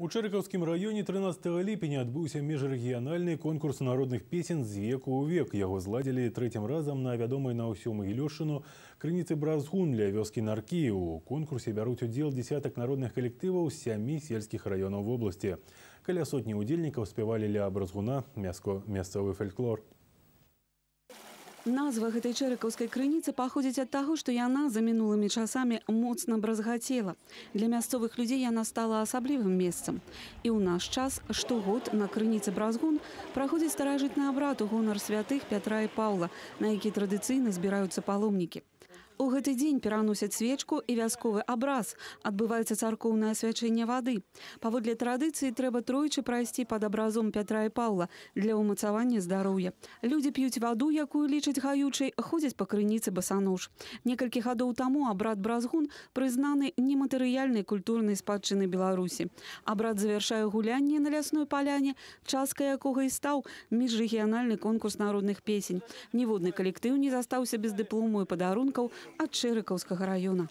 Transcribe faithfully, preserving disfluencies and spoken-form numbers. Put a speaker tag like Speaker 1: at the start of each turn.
Speaker 1: У Чэрыкаўскім раёне трынаццатага ліпеня адбыўся міжрэгіянальны конкурс народных песен з веку ў век. Яго зладзілі трэцім разам на вядомай на ўсю Магілёшчыну крыніцы Бразгун ля вёскі Наркі. У конкурсе бяруць удзел дзесятак народных калектываў з сямі сельскіх раёнаў вобласці. Каля сотні удзельнікаў спявалі ля Бразгуна мясцовы фальклор.
Speaker 2: Назва гэтай чэрыкаўскай крыніцы паходзіць ад таго, што яна за мінулымі часамі моцна бразгацела. Для мясцовых людзей яна стала асаблівым месцам. І ў наш час штогод на крыніцы Бразгун праходзіць старажытны абрад у гонар святых Пятра і Паўла, на які традыцыйна збіраюцца паломнікі. У гэты дзень пераносяць свечку і вясковы абраз. Адбываецца царкоўнае асвячэнне вады. Паводле традыцыі трэба тройчы прайсці пад абразом Пятра і Паўла для ўмацавання здароўя. Людзі п'юць ваду, якую лічаць гаючай, ходзяць па крыніцы басанож. Некалькі гадоў таму абрад Бразгун прызнаны нематэрыяльнай культурнай спадчыны Беларусі. Абрад завяршае гулянне на лясной паляне, часткай якога і стаў міжрэгіянальны конкурс народных песень. Ніводны калектыў не застаўся без дыплому і падарункаў ад Чэрыкаўскага раёна.